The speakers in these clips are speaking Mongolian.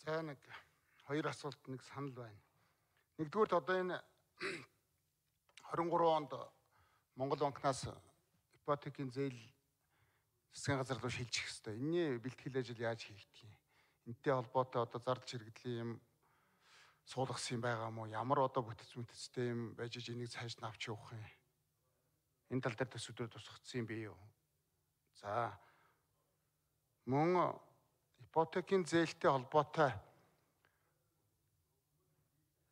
За нэг хоёр асуулт нэг санал байна. Нэгдүгürt одоо энэ 23 онд Монгол банкнаас ипотекийн зээл засгийн газар руу шилжих хэвээр. Энийний бэлтгэл ажил яаж хийгдэх юм? Энтэй холбоотой одоо зардал чирэгдлийн юм суулгасан юм байгаа мó? Ямар одоо бүтцтэй юм байж энийг цааш нь авч явах юм? Энэ тал дээр төсвөөр тусгацсан юм бий юу? За мөн ипотекийн зээлтэй холбоотой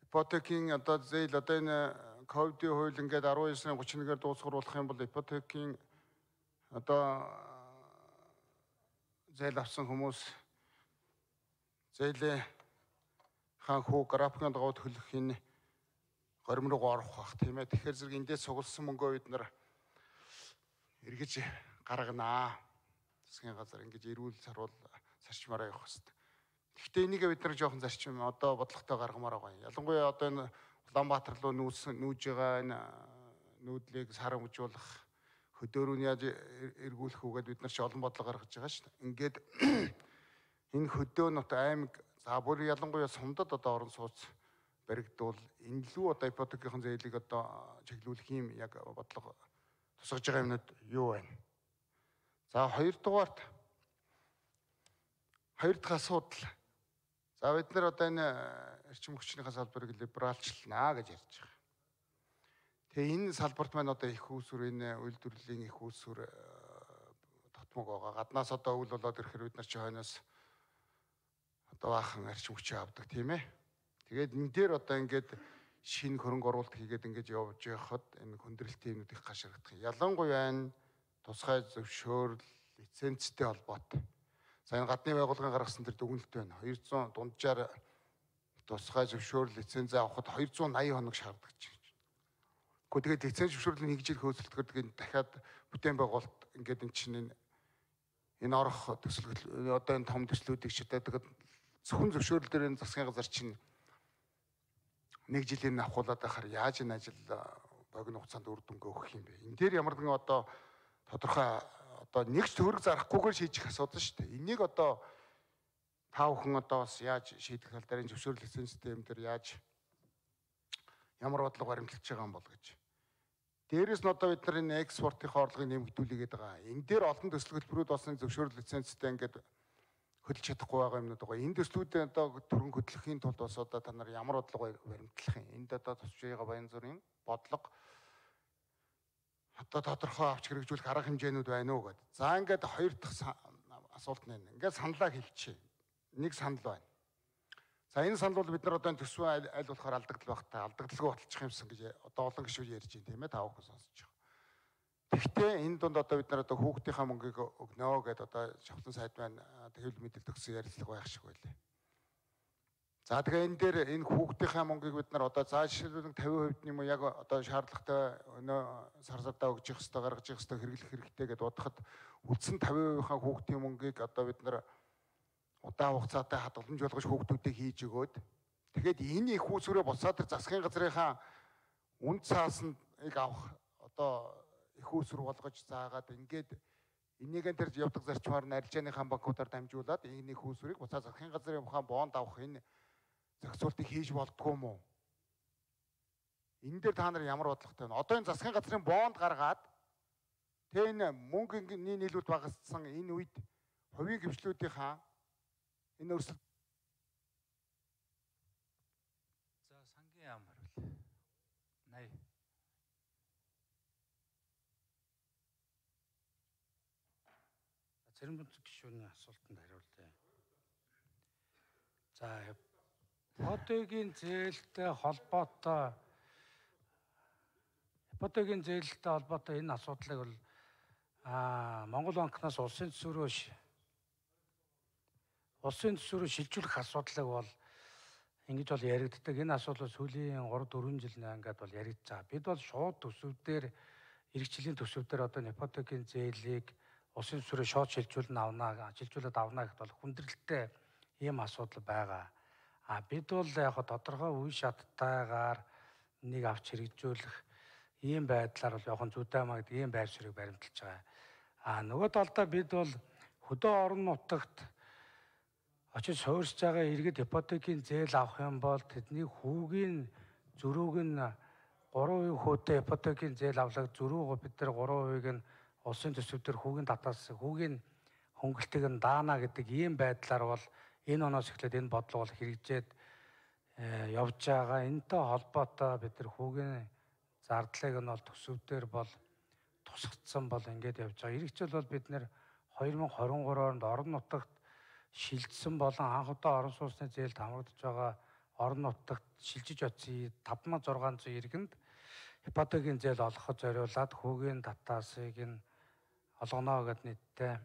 ипотекийн одоо зээл одоо энэ ковидын хууль ингээд 19-31-ээр дуусгаруулах юм бол ипотекийн одоо зээл авсан хүмүүс зээлийн хаан хүү графикын дагуу төлөх энэ горим руу орох бах тийм ээ. Тэгэхээр зэрэг эндээс сугалсан мөнгөө бид нар эргэж гарганаа. Засгийн газар ингэж эрүүл сарвал зарчмаараа явах хэрэгтэй. Гэхдээ энийг бид нар жоохон зарчим одоо бодлоготой гаргамаар байгаа юм. Ялангуяа одоо энэ Улаанбаатар руу нүүж байгаа энэ нүүдлийг сарамжуулах хөдөөрөнд яаж эргүүлэх үгээд бид нар ч олон бодлого гаргаж байгаа шүү дээ. Ингээд энэ хөдөөнөт аймаг за бүр ялангуяа сумдад одоо орон сууц баригдвал энэ лүү одоо ипотекийн зээлийг одоо чиглүүлэх юм яг бодлого тусгаж байгаа юмнууд юу байна? За хоёр дахь асуудал. За бид нар одоо энэ эрчим хүчний салбарыг либералчлнаа гэж ярьж байгаа. Тэгээ энэ салбарт маань одоо их үүсвэр энэ үйлдвэрлэлийн их үүсвэр тотмог байгаа. Гаднаас одоо үйл болоод ирэхээр бид нар чи хойноос одоо баахан эрчим хүчээ авдаг тийм ээ. Тэгээд энэ дээр одоо ингээд шинэ хөрөнгө оруулалт хийгээд ингэж явж байхад энэ хүндрэлтийн юмнууд их гашрагдах. Ялангуяа энэ тусгай зөвшөөрөл лицензтэй холбоотой. За энэ гадны байгууллагын гаргасан тэр дүгнэлт байна. 200 дунджаар тусгай зөвшөөрөл лиценз авахд 280 хоног шаарддаг гэж. Гэхдээ тэгээд лиценз зөвшөөрлийг нэг жил хөөцөлдөхөд тэгээд дахиад бүтээн байгуулалт ингээд энэ чинь энэ орох төсөл одоо энэ том төслүүдийг ч тэгээд зөвхөн зөвшөөрөл дээр энэ засгийн газар чинь нэг жилийн авахуулаад байхаар яаж энэ ажил богино хугацаанд үр дүнгээ өгөх юм бэ? Энэ дээр ямар нэгэн одоо тодорхой одоо нэгч төгрөг зарахгүйгээр шийдэх асуудал шүү дээ. Энийг одоо та бүхэн одоо бас яаж шийдэх тал дээр зөвшөөрөл лицензтэй юм дээр яаж ямар бодлого баримтлаж байгаа юм бол гэж. Дээрээс нь одоо бид нар энэ экспортын орлогыг нэмэгдүүлээд байгаа. Энэ дээр олон төсөл хөтөлбөрүүд болсон зөвшөөрөл лицензтэй ингээд хөдөлж чадахгүй байгаа юмнууд байгаа. Энэ төслүүдээ одоо төрөн хөдлөхийн тулд бас одоо та нар ямар бодлого баримтлах юм? Энд одоо тусч байгаа баян зүрийн бодлого одоо тодорхой авч хэрэгжүүлэх арга хэмжээнүүд байна уу гэдэг. За ингээд хоёр дахь асуулт нь ингээд саналаа хэлчихье. Нэг санал байна. За энэ санал бол бид нар одоо төсвөө аль болохоор алдагдал багтаа алдагдaltaгүй баталчих юмсан гэж одоо олон гишүүд ярьж байна тийм ээ та бүхэн сонсож байгаа. Гэхдээ энэ дунд одоо бид нар одоо хүүхдийнхаа мөнгийг өгнөө гэдээ одоо шавхлан сайд байна хэвлэл мэдээлэл төгсөн ярилцлага байх шиг байлаа. За тэгээ энэ дээр энэ хүүхдийнхаа мөнгийг бид нар одоо заашруулах 50% юм уу яг одоо шаардлагатай өнөө сарсадаа өгж явах хэрэгтэй гаргаж явах хэрэгтэй хэрэглэх хэрэгтэй гэдээ бодоход үлдсэн 50%-ийнхаа хүүхдийн мөнгийг одоо бид нар удаан хугацаатай хадгаламжуулгаж хүүхдүүдийг хийж өгөөд тэгээд энэ их үүсвэрээ буцаад тэр засгийн газрынхаа үнд цаасыг авах одоо их үүсвэр болгож заагаад ингээд энийгэн тэр явдаг зарчмаар нь арилжааныхаа банкудаар дамжуулаад энэ их үүсвэрийг буцаад засгийн газрынхаа бонд авах энэ зохицуултыг хийж болдгоо юм уу? Энэ дээр та нар ямар бодлоготой вэ? Одоо энэ засгийн газрын бонд гаргаад тэ энэ мөнгөний нийлүүлэлт багассан энэ үед хувийн гэмшлүүдийнхаа энэ өрсөлд за сангийн яам хариул 80 зарим гишүүний асуултанд хариулъя. За ипотекийн зээлтэй холбоотой энэ асуудлыг бол Монгол банкнаас улсын төсвөрөөр шилжүүлэх асуудлыг бол ингэж бол яригддаг. Энэ асуудал сүүлийн 3-4 жил ингээд бол яригдж байгаа. Бид бол шууд төсвүүдээр иргэжлийн төсвүүдээр одоо ипотекийн зээлийг улсын төсвөрөөр шууд шилжүүлээд авна гэхэд бол хүндрэлтэй ийм асуудал байгаа. Бид бол яг тодорхой үе шаттайгаар нэг авч хэрэгжүүлэх ийм байдлаар бол явах зүйтэй маа гэдэг ийм байр суурийг баримталж байгаа. Нөгөө талдаа бид бол хөдөө орон нутагт очиж суурьж байгаа иргэд ипотекийн зээл авах юм бол тэдний хүүгийн зөрүүг нь 3% хүүтэй ипотекийн зээл авлага зөрүүг бид нар 3%-ийг нь улсын төсвөдөр хүүгийн татаас хүүгийн хөнгөлтийг нь даана гэдэг ийм байдлаар бол энэ оноос эхлээд энэ бодлого бол хэрэгжээд явж байгаа. Энэтэй холбоотой бид нар хүүгийн зардлыг нь бол төсвөдөр бол тусгацсан бол ингээд явж байгаа. Ирэх жил бол бид нэр 2023 онд орон нутагт шилжсэн болон анх удаа орон сууцны зээлд хамрагдаж байгаа орон нутагт шилжиж очив 5600 иргэнд ипотекийн зээл олгоход зориулаад хүүгийн татаасыг нь олгоно гэд нийтдээ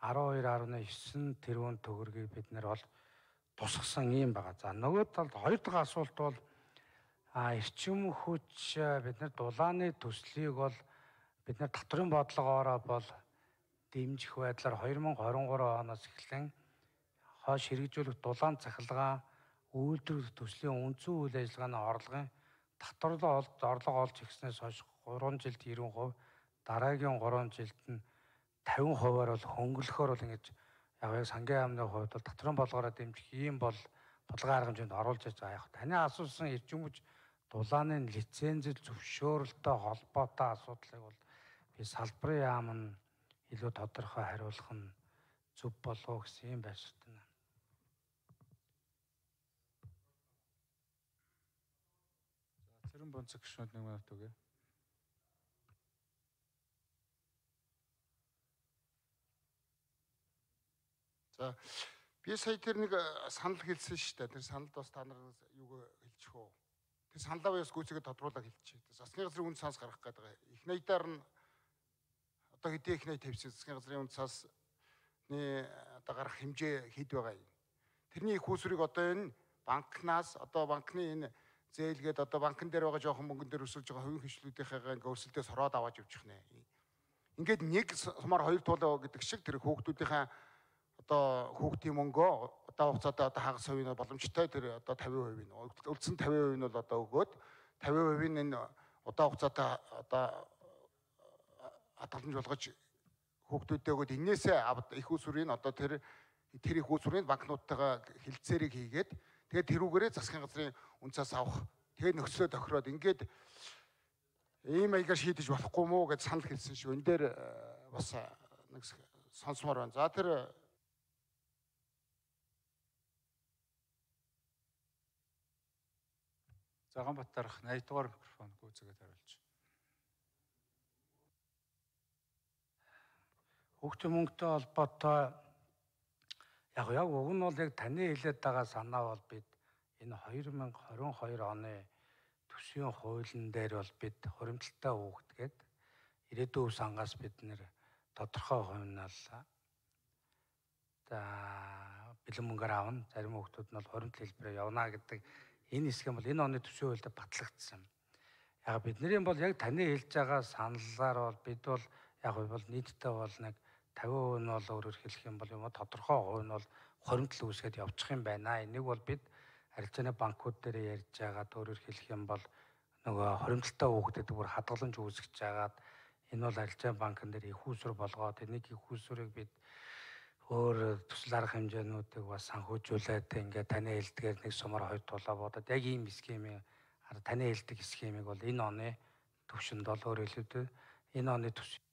12.9 тэрбум төгрөгийг бид нэр бол тусгасан юм байгаа. За нөгөө талд хоёр дахь асуулт бол эрчим хүч бид нар дулааны төслийг бол бид нар татврын бодлогоороо бол дэмжих байдлаар 2023 оноос эхлэн хойш хэрэгжүүлэх дулаан цахилгаан үйлдвэрлэх төслийн үндсэн үйл ажиллагааны орлогын татварлага орлого олж ирснээс хойш 3 жилд 90%, дараагийн 3 жилд нь 50%-аар бол хөнгөлөхөөр бол ингэж яг сангийн яамны хувьд бол татврын бодлогоороо дэмжих ийм бол бодлогын арга хэмжээнд оруулж яаж байгаа. Яг таны асуусан эрчим хүч дулааны лицензэл зөвшөөрөлтөй холбоотой асуудлыг бол би салбарын яам нь илүү тодорхой хариулах нь зөв болов гэсэн юм байшрт байна. За Цэрэн Бонцог гишүүнд 1 минут өгье. За би сая тэр нэг санал хэлсэн шүү дээ. Тэр саналд бас та нараас юуг хэлчих үү? Тэр саналаа бас гүйцэтгэж тодруулаад хэлчихье. Засгийн газрын үнд цаас гаргах гэдэг. Их найдаар нь одоо хэдийн их найд тавьсан засгийн газрын үнд цаасны одоо гарах хэмжээ хэд байгаа юм. Тэрний их усрыг одоо энэ банкнаас одоо банкны энэ зээлгээд одоо банкн дээр байгаа жоохон мөнгөн дээр өсөж байгаа хувийн хвшлүүдийнхээ ингээ өрсөлдөөс хороод аваад явчих нэ. Ингээд нэг сумаар хоёр туулаа гэдэг шиг тэр хүүхдүүдийнхээ одоо хүүхдийн мөнгөө одоо хугацаатай одоо хагас хувийн боломжтой тэр одоо 50% нь үлдсэн 50% нь бол одоо өгөөд 50% нь энэ удаа хугацаатай одоо хадгаламж болгож хүүхдүүдэд өгөөд энээсээ их усрын одоо тэр их усрын банкнуудтайгаа хилцээрийг хийгээд тэгээд тэрүүгээрээ засгийн газрын үнцээс авах тэгээд нөхцөлөө тохироод ингээд ийм маягаар шийдэж болохгүй мүү гэж санал хэлсэн шүү. Энэ дээр бас нэг сонсомоор байна. За тэр Заганбатар 80 дугаар микрофон гүйцэгээд хариулж. Хүүхдийн мөнгөтэй холбоотой яг уг нь бол яг таны хэлээд байгаа санаа бол бид энэ 2022 оны төсвийн хуулийн дээр бол бид хуримтлалтай хүүхдгээд ирээдүйн үе сангаас бид нэр тодорхой хувьнаал бэлэн мөнгөөр аавна. Зарим хүүхдүүд нь бол хуримтлал хэлбэрээр явна гэдэг энэ хэсэг бол энэ оны төсвийн хуульд батлагдсан. Яг бидний бол яг таны хэлж байгаа саналаар бол бид бол яг бол нийтдээ бол нэг 50% нь бол өөрөөр хэлэх юм бол юм тодорхой хувь нь бол хуримтлал үүсгээд явчих юм байна. Энийг бол бид арилжааны банкуд дээр ярьж байгаад өөрөөр хэлэх юм бол нөгөө хуримтлалтай хүүхдэд бүр хадгаламж үүсгэж байгаад энэ бол арилжааны банкн дээр их усүр болгоод энийг их усүрийг бид өөр төсөл арга хэмжээнүүдийг бас санхүүжүүлээд ингээд таны хэлдгээр нэг сумаар хоёр тулаа бодоод яг ийм схемийг таны хэлдэг схемийг бол энэ оны төвшөнд бол өөр хэлбэл энэ оны төсөв.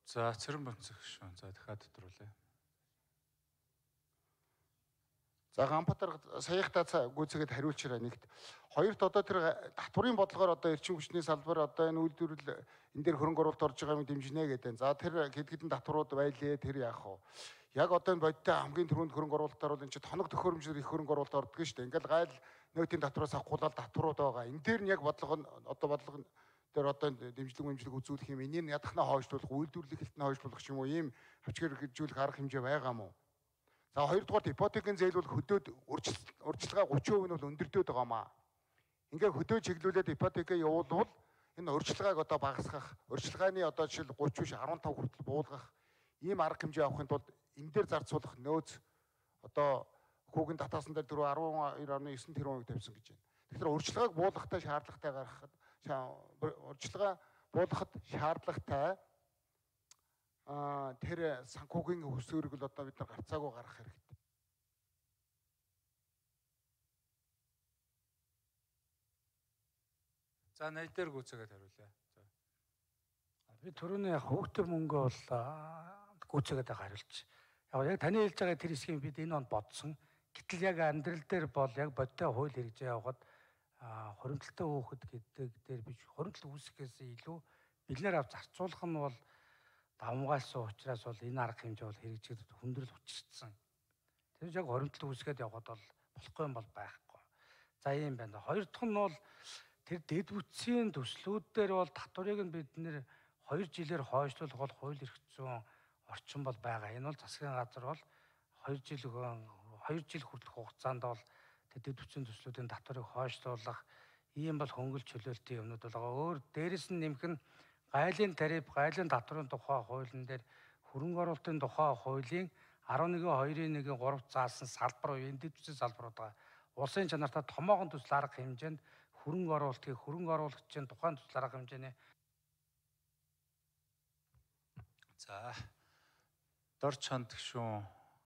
За Цэрэн Бонцог гишүүн. За дахиад тодруулъя. За Ганбатар саяхтаа гүйцэгээд хариулчираа нэгт. Хоёрт одоо тэр татврын бодлогоор одоо эрчим хүчний салбар одоо энэ үйлдвэрлэл энэ дээр хөрөнгө оруулалт орж байгаа юм дэмжинэ гэдэг. За тэр хэд хэдэн татварууд байлээ тэр яах вэ? Яг одоо энэ бодиттой хамгийн түрүүнд хөрөнгө оруулалтаар бол энэ чинь тоног төхөөрөмжлөр их хөрөнгө оруулалт ордог шүү дээ. Ингээл гайл нөөтийн татвараас авахгүйл татварууд байгаа. Энэ дээр нь яг бодлого нь одоо бодлого дээр одоо дэмжлэг үзүүлэх юм. Энийг ядахнаа хойшлуулах, үйлдвэрлэх хэлтний хойшлуулах юм уу? Ийм хавчгаар хэрэгжүүлэх арга хэмжээ байгаа мó. За хоёрдугаар ипотекийн зээл бол хөдөөд урьдчилгаа 30% нь бол өндөрдөд байгаа маа. Ингээ хөдөө чиглүүлээд ипотекээ явуулвал энэ урьдчилгааг одоо багасгах, урьдчилгааны одоо жишээл 30 биш 15 хүртэл буулгах ийм арга хэмжээ авахын тулд энэ дээр зарцуулах нөөц одоо хүүгийн татаасан дээр 12.9 тэрбумыг тавьсан гэж байна. Тэгэхээр урьдчилгааг буулгахтай шаардлагатай гаргахад урьдчилгаа буулгахад шаардлагатай тэр санхүүгийн хөсөөрөг л одоо бид нар гарцаагүй гаргах хэрэгтэй. За найд дээр гүйцээгээд хариулъя. За. Би түрүүний яг хүүхдийн мөнгө бол гүйцээгээд хариулж. Яг таны хэлж байгаа тэр хэсгийг бид энэ онд бодсон. Гэтэл яг амьдрал дээр бол яг бодтой хууль хэрэгжээ явахад хуримтлалтай хөөхд гэдэг дээр биш хуримтлал үүсгэхээс илүү бид нэр авч зарцуулах нь бол давмгайлсан учраас бол энэ арга хэмжээ бол хэрэгжиж хүндрэл учирсан. Тэр яг хуримтлал үүсгээд явахад бол болохгүй юм бол байхгүй. За ийм байна. Хоёр дахь нь бол тэр дэд бүтцийн төслүүд дээр бол татварыг нь бид нэр 2 жилээр хойшлуулах бол хууль эрх зүйн орчин бол байгаа. Энэ бол засгийн газар бол 2 жил хүртэлх хугацаанд бол дэд бүтцийн төслүүдийн татварыг хойшлуулах ийм бол хөнгөлж чөлөөлтийн юмнууд бол байгаа. Өөр дээрэс нь нэмэх нь гайлын тариф, гайлын татварын тухай хуулийн дээр хөрөнгө оруулалтын тухай хуулийн 11.2.1-3 заасан салбар уу энэ дэд бүтцийн салбарууд байгаа. Улсын чанартай томоохон төсөл арга хэмжээнд хөрөнгө оруулагчийн тухайн төсөл арга хэмжээний за дор чанд гишүүн